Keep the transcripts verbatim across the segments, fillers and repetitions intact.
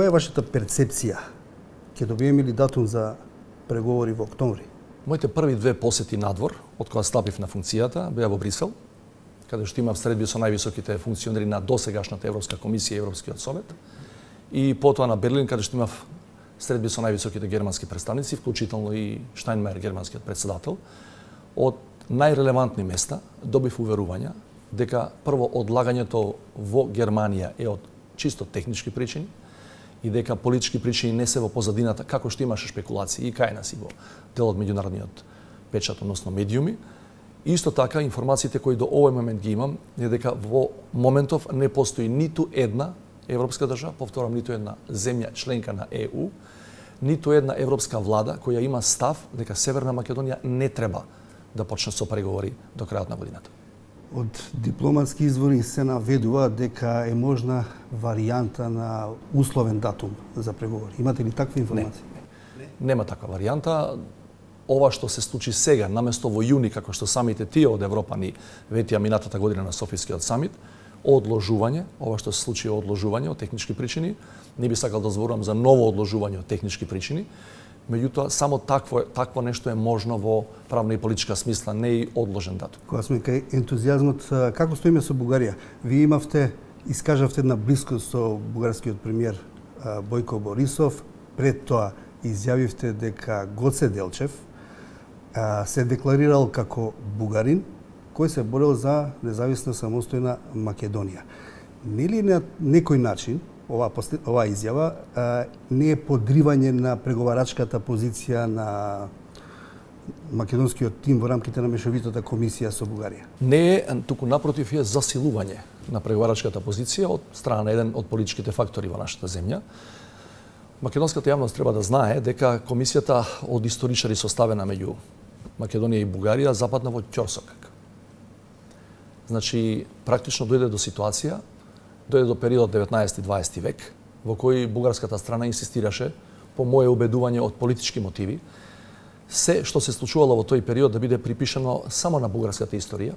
која е вашата перцепција? Ќе добиеме ли датум за преговори во октомври? Моите први две посети надвор, од кога стапив на функцијата, беа во Брисел, каде што имав средби со највисоките функционери на досегашната Европска комисија и Европскиот совет, и потоа на Берлин, каде што имав средби со највисоките германски представници, вклучително и Штајнмајер, германскиот председател. Од најрелевантни места добив уверувања дека прво одлагањето во Германија е од чисто технички причини и дека политички причини не се во позадината, како што имаше шпекулации и кај нас и во дел од меѓународниот печат, односно медиуми. Исто така, информациите кои до овој момент ги имам е дека во моментов не постои ниту една европска држава, повторам, ниту една земја членка на Е У, ниту една европска влада која има став дека Северна Македонија не треба да почне со преговори до крајот на годината. Од дипломатски извори се наведува дека е можна варијанта на условен датум за преговори. Имате ли таква информација? Не, не. Нема таква варијанта. Ова што се случи сега, наместо во јуни, како што самите тие од Европа ни ветија минатата година на Софискиот самит, одложување, ова што се случи одложување од технички причини, не би сакал да зборувам за ново одложување од технички причини, меѓутоа само такво такво нешто е можно во правна и политичка смисла, не и одложен датум. Кога сме кај ентузијазмот, како стоиме со Бугарија? Вие имавте, искажавте една блискост со бугарскиот премиер Бојко Борисов, пред тоа изјавивте дека Гоце Делчев се декларирал како бугарин кој се борел за независна самостојна Македонија. Нели на некој начин ова ова изјава а, не е подривање на преговарачката позиција на македонскиот тим во рамките на мешовитата комисија со Бугарија? Не е, туку напротив е засилување на преговарачката позиција од страна на еден од политичките фактори во нашата земја. Македонската јавност треба да знае дека комисијата од историчари составена меѓу Македонија и Бугарија западна во ќорсокак. Значи, практично дојде до ситуација, дојде до период деветнаесети и дваесети век, во кој бугарската страна инсистираше, по моје убедување од политички мотиви, се што се случувало во тој период да биде припишано само на бугарската историја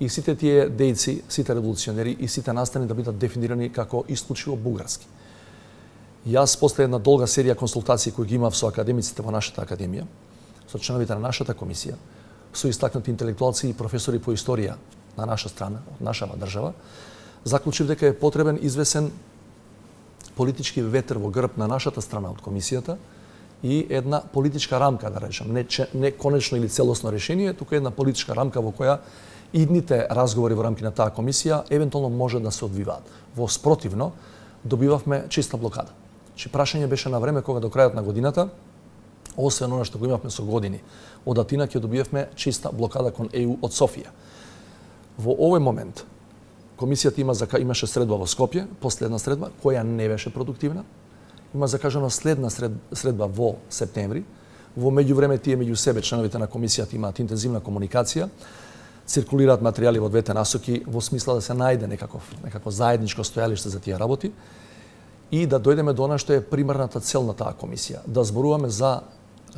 и сите тие дејци, сите револуционери и сите настани да бидат дефинирани како исклучиво бугарски. Јас после една долга серија консултации кои ги имав со академиците во нашата академија, со членовите на нашата комисија, со истакнати интелектуалци и професори по историја на наша страна, од нашава држава, заклучив дека е потребен извесен политички ветер во грб на нашата страна од комисијата и една политичка рамка, да речем, не, не конечно или целосно решение, туку една политичка рамка во која идните разговори во рамки на таа комисија евентуално може да се одвиваат. Во спротивно, добивавме чиста блокада. Чи прашање беше на време кога до крајот на годината, освен она што го имавме со години, од Атина ќе добиевме чиста блокада кон Е У од Софија. Во овој момент, комисијата има зака имаше средба во Скопје, последна средба која не беше продуктивна. Има закажана следна сред, средба во септември. Во меѓувреме тие меѓу себе членовите на комисијата имаат интензивна комуникација, циркулираат материјали во двете насоки во смисла да се најде некаков некако заедничко стојалиште за тие работи и да дојдеме до она што е примарната цел на таа комисија, да зборуваме за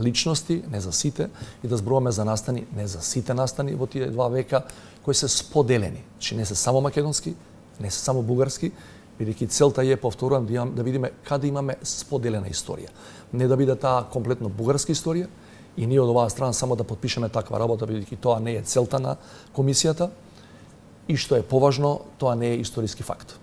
личности, не за сите, и да зборуваме за настани, не за сите настани во тие два века кои се споделени. Чи не се само македонски, не се само бугарски, бидејќи целта е, повторувам, да, да видиме каде имаме споделена историја. Не да биде таа комплетно бугарска историја и ние од оваа страна само да подпишеме таква работа, бидејќи тоа не е целта на комисијата и што е поважно, тоа не е историски факт.